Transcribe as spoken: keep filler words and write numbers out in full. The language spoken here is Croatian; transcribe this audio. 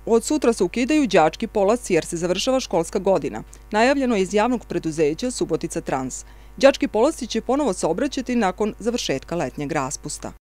Od sutra se ukidaju đački polasci jer se završava školska godina. Najavljeno je iz javnog preduzeća Subotica Trans. Đački polasci će ponovo saobraćati nakon završetka letnjeg raspusta.